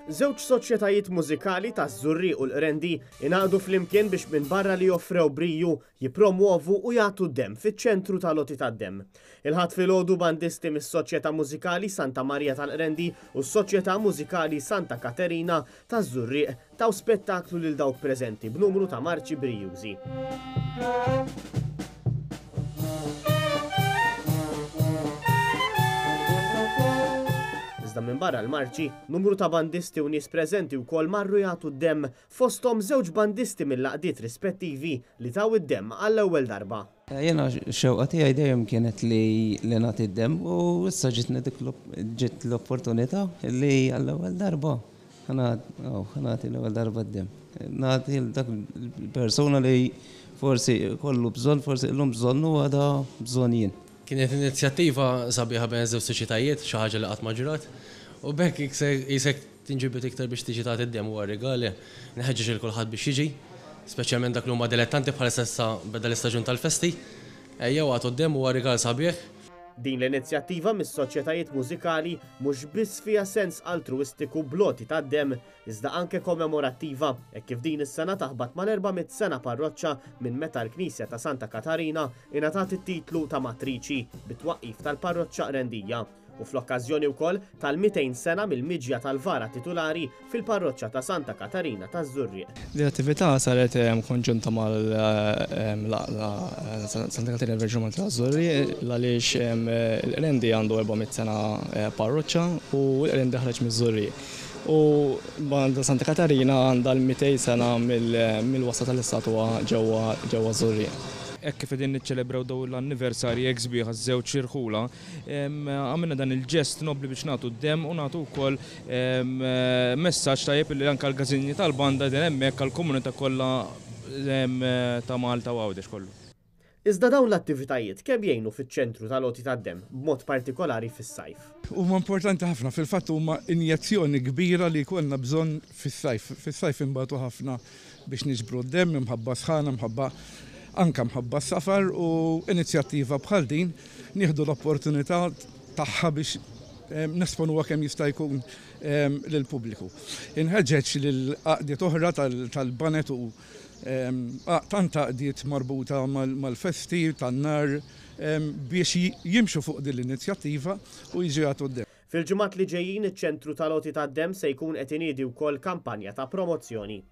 Żewġ soċjetajiet mużikali taż-Żurrieq u l-Qrendi ingħaqdu flimkien biex minbarra li offrew briju, jippromwovu u jagħtu d-demm fiċ-ċentru tal-għoti tad-demm. Il-Ħadd filgħodu bandisti mis-Soċjetà Mużikali Santa Marija tal-Qrendi u s-Soċjetà Mużikali Santa Katerina taż-Żurrieq taw spettaklu lil dawk preżenti b'numru ta' marċi brijużi. Iżda minbarra l-marċi, numru ta' bandisti u nies preżenti wkoll marru jagħtu d-demm, fosthom żewġ bandisti mill-għaqdiet rispettivi li taw id-demm għall-ewwel darba. Jiena x-xewqa tiegħi dejjem kienet li li nagħti d-demm u issa ġietni dik ġiet l-opportunità li għall-ewwel darba ħa nagħti l-ewwel darba d-demm. Nagħti lil dak il-persuna li forsi jkollu bżonn, forsi illum bżonnu għada bżonn jien. Kienet inizjattiva sabiħa bejn iż-żewġ soċjetajiet, xi ħaġa li qatt ma ġrat, u b'hekk qisek tinġibed iktar biex tiġi tagħti d-demm huwa rigal. Nħeġġeġ lil kulħadd biex jiġi, speċjalment dak li huma dilettanti bħalissa issa beda l-istaġun tal-festi. Ejjew agħtu d-demm huwa rigal sabiħ. Din l-inizjattiva mis-soċjetajiet mużikali mhux biss fiha sens altruwistiku bl-għoti tad-demm, iżda anke kommemorattiva, hekk kif din is-sena taħbat mal-400 sena parroċċa minn meta l-Knisja ta' Santa Katarina ingħatat it-titlu ta' Matriċi bit-twaqqif tal-Parroċċa Qrendija. u fl-okkażjoni wkoll tal-200 sena mill-miġja tal-vara titulari fil-Parroċċa ta' Santa Katarina taż-Żurrieq. Din l-attività saret konġunta mal-Għaqda Santa Katarina Verġni Malta taż-Żurrieq l-għaliex il-Qrendi għandu 400 sena parroċċa u l-Qrendi ħareġ miż-Żurrieq. U banda Santa Katarina għandha l-200 sena mill-wasla tal-istatwa ġewwa ż-Żurrieq. Hekk kif qegħdin niċċelebraw dawn l-anniversarji hekk sbieħ għaż-żewġ irħula, Għamilna dan il-ġest nobbli biex nagħtu d-demm u nagħtu wkoll messaġġ tajjeb li anke l-każini tal-banda qegħdin hemmhekk għall-komunità kollha ta' Malta u Għawdex kollu. Iżda dawn l-attivitajiet kemm jgħinu fiċ-ċentru tal-għoti tad-demm, b'mod partikolari fis-sajf? Huma importanti ħafna, fil-fatt huma injezzjoni kbira li jkollna bżonn fis-sajf. Fis-sajf inbatu ħafna biex niġbru d-demm imħabba s-sħana, mħabba anke mħabba s-safar u inizjattiva bħal din nieħdu l-opportunità tagħha biex nesponuha kemm jista' jkun lill-pubbliku. Inħeġġeġ lil għaqdiet oħra tal-baned u tant għaqdiet marbuta mal-festi tan-nar biex jimxu fuq din l-inizjattiva u jiġu jagħtu d-demm. Fil-ġimgħat li ġejjin iċ-ċentru tal-għoti tad-demm se jkun qed iniedi wkoll kampanja ta' promozzjoni.